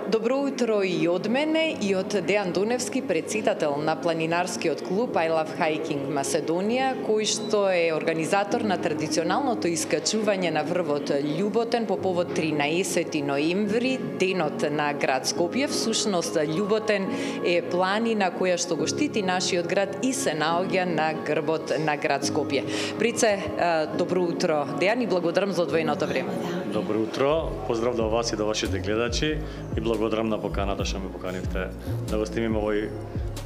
Добро утро и од мене и од Дејан Дуневски, председател на планинарскиот клуб I Love Hiking Macedonија, кој што е организатор на традиционалното искачување на врвот Љуботен по повод 13 ноември, денот на град Скопје. Всушност Љуботен е планина која што го штити нашиот град и се наоѓа на грбот на град Скопје. Прице, добро утро, Дејан, и благодарам за одвоеното време. Добро утро, поздрав до вас и до вашите гледачи и благодарам на поканата што ме поканивте да го снимиме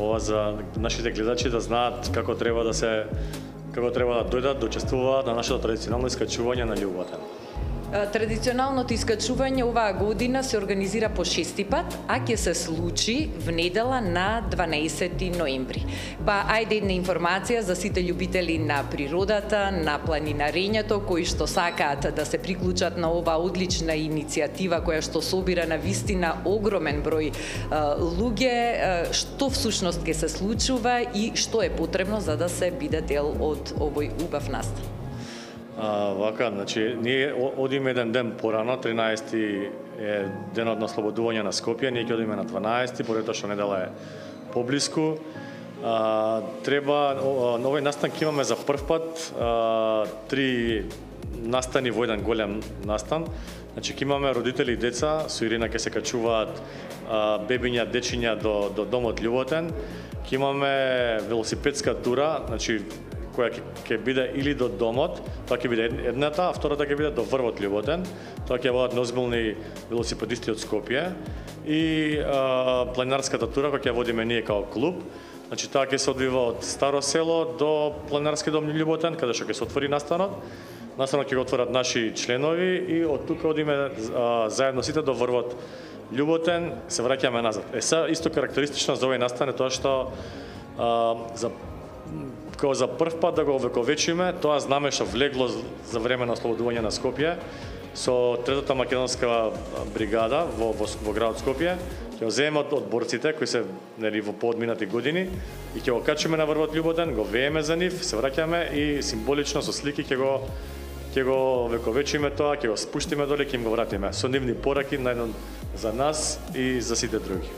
ова за нашите гледачи да знаат како треба да дојдат, да учествуваат на нашето традиционално искачување на Љуботен. Традиционалното искачување оваа година се организира по 6-ти пат, а ќе се случи в недела на 12 ноември. Па ајде една информација за сите љубители на природата, на планинарењето кои што сакаат да се приклучат на оваа одлична иницијатива која што собира на вистина огромен број луѓе, што всушност ќе се случува и што е потребно за да се биде дел од овој убав настан. Вака, значи, ние одиме еден ден порано, 13-ти е денот на ослободување на Скопје, ние ќе одиме на 12-ти, поради тоа што недела е поблиску. Треба, на овој настан ќе имаме за прв пат 3 настани во еден голем настан. Значи, ќе имаме родители и деца, со Ирина ќе се качуваат бебиња, дечиња до домот Љуботен. Ќе имаме велосипедска тура, значи, која ќе биде или до домот, тоа ќе биде едната, а втората ќе биде до врвот Љуботен. Тоа ќе бидат неозбилни велосипедисти од Скопје и планинарската тура која ќе водиме ние као клуб. Значи таа ќе се одвива од Старо село до планинарски дом Љуботен, каде што ќе се отвори настанот. Настанот ќе го отворат наши членови и од тука одиме заедно сите до врвот Љуботен, се враќаме назад. Сега исто карактеристично за овој настан е тоа што за прв пат да го овековечиме тоа знаме што влегло за време на ослободување на Скопје со третата македонска бригада во градот Скопје. Ќе го земеме од борците кои се во поодминати години и ќе го качиме на врвот Љуботен, го вееме за нив, се враќаме и символично со слики ќе го вековечиме тоа, ќе го спуштиме доле, ќе им го вратиме со нивни пораки за нас и за сите други.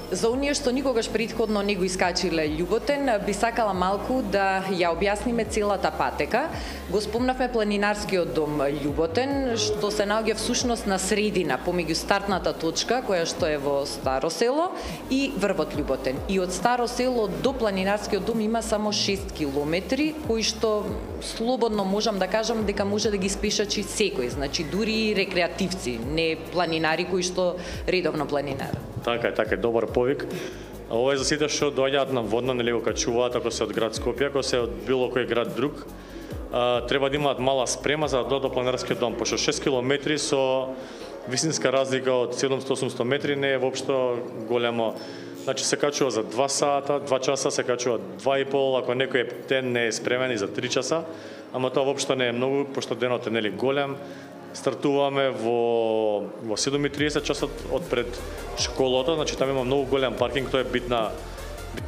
За оние што никогаш претходно не го искачиле Љуботен, би сакала малку да ја објасниме целата патека. Го спомнавме планинарскиот дом Љуботен, што се наоѓа всушност на средина, помеѓу стартната точка, која што е во Старо село, и врвот Љуботен. И од Старо село до планинарскиот дом има само 6 километри, кои што слободно можам да кажам дека може да ги спешачи секој, значи дури рекреативци, не планинари кои што редовно планинарат. Така е, добар повик. Ова е за сите што доаѓаат на водно, нели го качуваат, ако се од град Скопје, ако се од било кој град друг, треба да имаат мала спрема за да додат до планинарскиот дом, пошто 6 километри со висинска разлика од 700-800 метри не е воопшто големо. Значи се качува за 2 сата, 2 часа, се качува 2,5, ако некој ден не е спремен и за 3 часа, ама тоа воопшто не е многу, пошто денот е нели голем. Стартуваме во 7:30 часот од пред школото, значи таму има многу голем паркинг, тоа е битна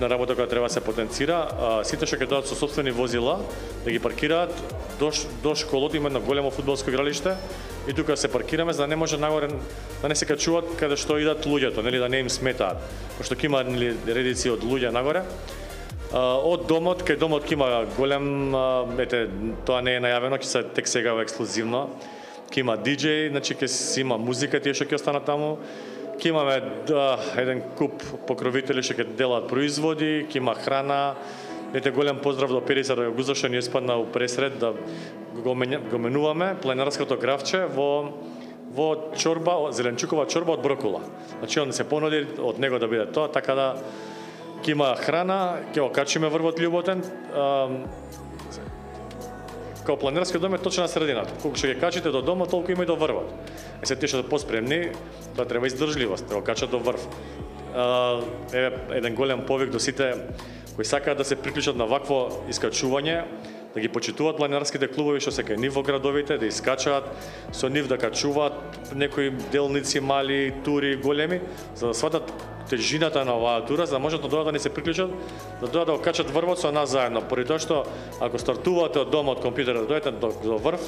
работа која треба да се потенцира. Сите што ќе дојдат со сопствени возила да ги паркираат до школото, има едно големо фудбалско игралиште и тука се паркираме за да не може нагоре да не се качуваат каде што идат луѓето, нели да не им сметаат, пошто ќе има нели редици од луѓе нагоре. Од домот, кај домот ќе има голем, тоа не е најавено, ќе се тек сега ексклузивно. Ќе има диџеј, значи ќе си има музика тие што ќе останат таму. Ќе имаме еден куп покровители што ќе делат производи, ќе има храна. Голем поздрав до Периса Рајогуза што ни испадна у пресред да го менуваме планинарското гравче во чорба, зеленчукова чорба од брокула. Значи он се понуди од него да биде тоа, така да ќе има храна, ќе го качиме врвот Љуботен. Као планинарскиот дом е точно на средината. Колку што ќе качите до дома, толку има и до врвот. Се тие што поспремни, тоа треба издржливост, да го качат до врв. Еден голем повик до сите кои сакаат да се приклучат на вакво искачување, да ги почитуваат планинарските клубови што се кај нив во градовите, да искачаат со нив, да качуваат некои делници мали, тури големи, за да сватат тежината на оваа тура, за да можат да дојдат да ни се приклучат, да дојдат да го качат врвот со нас заедно. Поради тоа што ако стартувате од домот од компјутерот да дојдете до врв,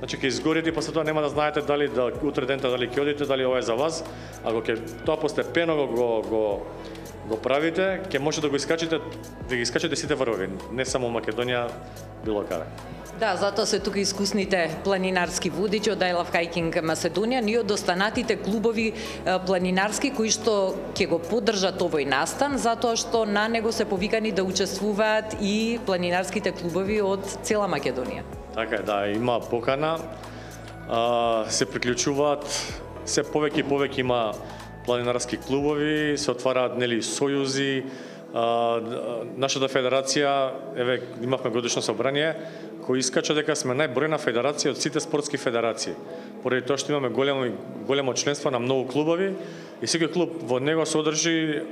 Значи ќе изгорите и после тоа нема да знаете дали да утре дента дали ќе одите, дали ова е за вас. Ако ќе тоа постепено го правите, ќе може да ги искачите сите врвови, не само Македонија, било каде. Да, затоа се тука искусните планинарски водичи од I Love Hiking Macedоnia, ние од останатите клубови планинарски кои што ќе го поддржат овој настан, затоа што на него се повикани да учествуваат и планинарските клубови од цела Македонија. Така е, да, има покана, се приклучуваат, се повеќе и повеќе има планинарски клубови, се отвараат сојузи. Нашата федерација, еве имавме годишно собрание, кој искача дека сме најбројна федерација од сите спортски федерации. Поради тоа што имаме големо членство на многу клубови и секој клуб во него содржи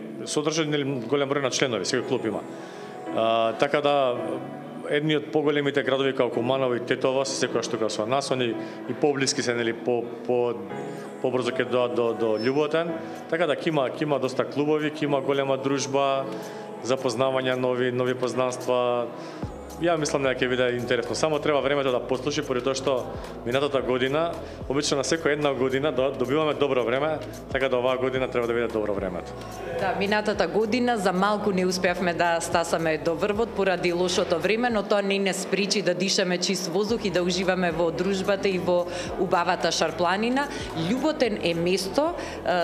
голем број на членови, секој клуб има. Така да едни од поголемите градови како Куманово и Тетово се секојаш тука со нас, они и поблиски се побрзо ќе дојдат до Љуботен, така да ќе има доста клубови, ќе има голема дружба, запознавање нови познанства. Ја мислам дека ќе биде интересно. Само треба времето да послужи, поради тоа што минатата година, обично на секоја една година добиваме добро време, така да оваа година треба да биде добро времето. Да, минатата година за малку не успеавме да стасаме до врвот поради лошото време, но тоа не спречи да дишаме чист воздух и да уживаме во дружбата и во убавата Шарпланина. Љуботен е место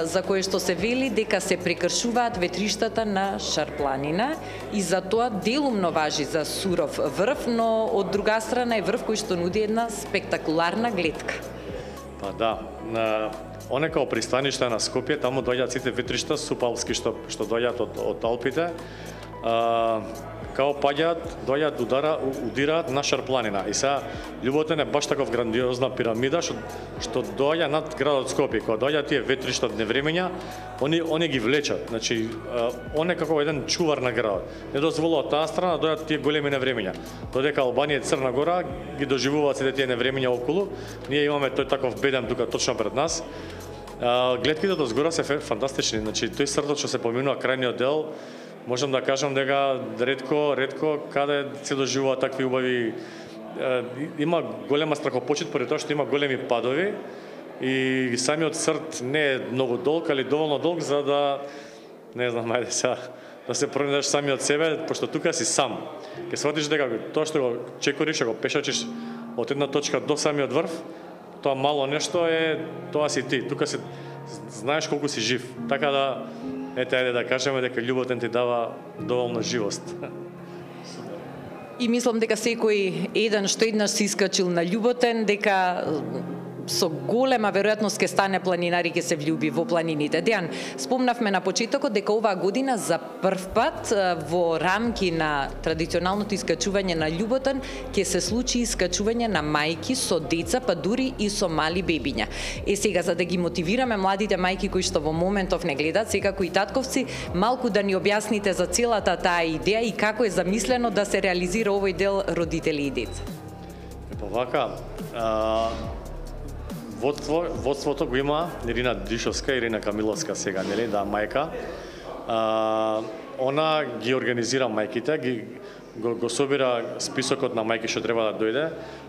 за кое што се вели дека се прекршуваат ветриштата на Шарпланина и за тоа делумно важи за суров врв, но од друга страна е врв кој што нуди една спектакуларна гледка. Па да, оне као пристаниште на Скопје, таму доаѓаат сите ветришта супалски што доаѓаат од Алпите. Као доаѓаат удираат на Шарпланина. И сега Љуботен е баш таков грандиозна пирамида што доаѓа над градот Скопје. Кога доаѓаат тие ветришта од невремења, они ги влечат. Значи, он е како еден чувар на градот. Не дозволува од таа страна да доаѓаат тие големи невремења. Додека Албанија и Црна Гора ги доживуваат сите тие невремења околу, ние имаме тој таков беден тука точно пред нас. Гледките до згора се фантастични. Значи, тој срдот што се поминува крајниот дел, можам да кажам дека ретко каде се доживува такви убави. Има голема страхопочет поради тоа што има големи падови и самиот срд не е многу долг, али доволно долг за да не знам, ајде сега да се пронајдеш самиот себе, пошто тука си сам. Ќе сватиш дека тоа што го чекориш, го пешачиш од една точка до самиот врв, тоа мало нешто е, тоа си ти. Тука си знаеш колку си жив. Така да ајде да кажеме дека Љуботен ти дава доволно живост. И мислам дека секој еден што еднаш се искачил на Љуботен, дека со голема веројатност ќе стане планинар и ќе се влюби во планините. Дејан, спомнавме на почетокот дека оваа година за прв пат во рамки на традиционалното искачување на Љуботен ќе се случи искачување на мајки со деца, па дури и со мали бебиња. Сега, за да ги мотивираме младите мајки кои што во моментов не гледат, секако и татковци, малку да ни објасните за целата таа идеја и како е замислено да се реализира овој дел родители и деца. Вака, водството го има Ирина Дишовска, Ирина Камиловска сега, нели, да, мајка. Она ги организира мајките, го собира списокот на мајки што треба да дојде.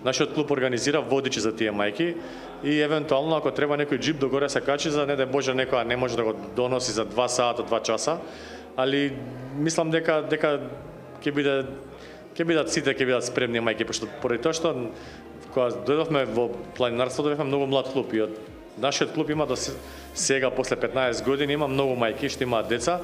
Нашиот клуб организира водичи за тие мајки и евентуално ако треба некој џип догоре се качи, за не да Боже некоја не може да го доноси за 2 сата, 2 часа, али мислам дека ќе бидат сите спремни мајки, пошто поради тоа што кога дојдовме во планинарството бевме многу млад клуб и од нашиот клуб има до сега после 15 години има многу мајки што имаат деца,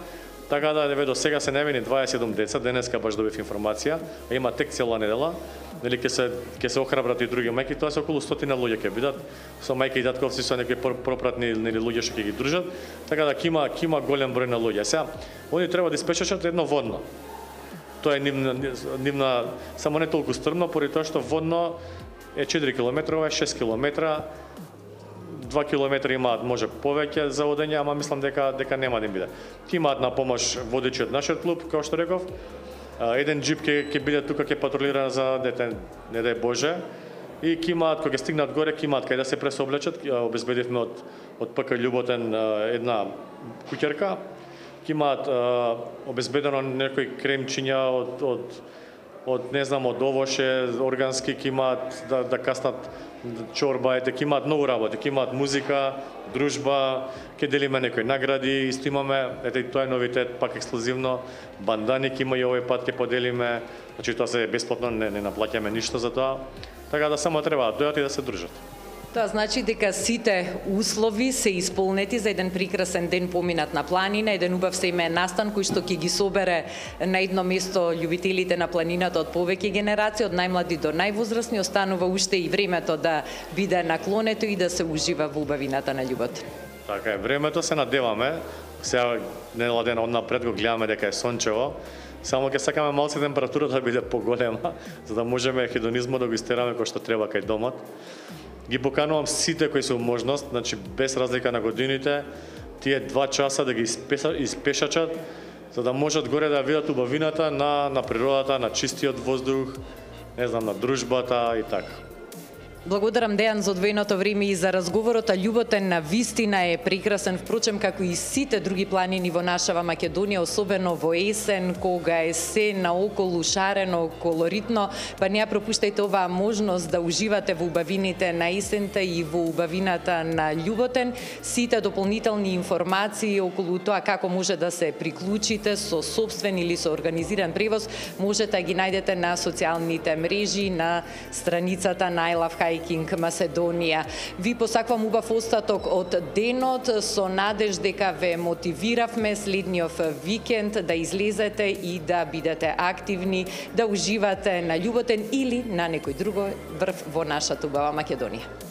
така да до сега се невини 27 деца, денеска баш добив информација, има тек цела недела, нели ќе се охрабрат и други мајки, тоа се околу 100 луѓе ќе бидат со мајки и татковци, со некои пропратни нели луѓе што ќе ги дружат, така да ќе има голем број на луѓе. Сега они треба да испечачат едно водно. Тоа е нивна само не толку стрмно, поради тоа што водно е 4 км, 6 км, 2 км имаат може повеќе за одење, ама мислам дека нема да им биде. Ти имаат на помош водичи од нашиот клуб, како што реков. Еден џип ќе биде тука, ќе патрулира за дете, не дај Боже. И ќе имаат, кога стигнат горе, ќе имаат кај да се пресоблечат. Обезбедивме од ПК Љуботен една куќерка. Ќе имаат обезбедено некои кремчиња од не знам, од овоше, органски, ќе имаат да каснат чорба, ќе имаат многу работи, ќе имаат музика, дружба, ќе делиме некои награди, исто имаме, тоа е новитет, пак ексклузивно, бандани ќе има и овој пат ќе поделиме, значи тоа се бесплатно, не наплаќаме ништо за тоа, така да само треба да дојдат и да се дружат. Тоа значи дека сите услови се исполнети за еден прекрасен ден поминат на планина, еден убав семеен настан кој што ќе ги собере на едно место љубителите на планината од повеќе генерации, од најмлади до највозрасни, останува уште и времето да биде наклонето и да се ужива во убавината на љубот. Така е, времето се надеваме, сега недела ден однапред го гледаме дека е сончево, само ќе сакаме малце температурата да биде поголема, за да можеме хедонизмот да го истераме кој што треба кај домот. Ги поканувам сите кои се можност, значи без разлика на годините, тие 2 часа да ги испешачат, за да можат горе да видат убавината на природата, на чистиот воздух, не знам, на дружбата и така. Благодарам, Дејан, за одвоеното време и за разговорот, а љуботен на вистина е прекрасен, впрочем, како и сите други планини во нашава Македонија, особено во есен, кога е се наоколу шарено, колоритно, па не ја пропуштајте оваа можност да уживате во убавините на есента и во убавината на љуботен. Сите дополнителни информации околу тоа како може да се приклучите со сопствен или со организиран превоз, можете да ги најдете на социјалните мрежи, на страницата на I Love Hiking Macedonија. Ви посакувам убав остаток од денот, со надеж дека ве мотивиравме следниот викенд да излезете и да бидете активни, да уживате на љуботен или на некој друго врв во нашата убава Македонија.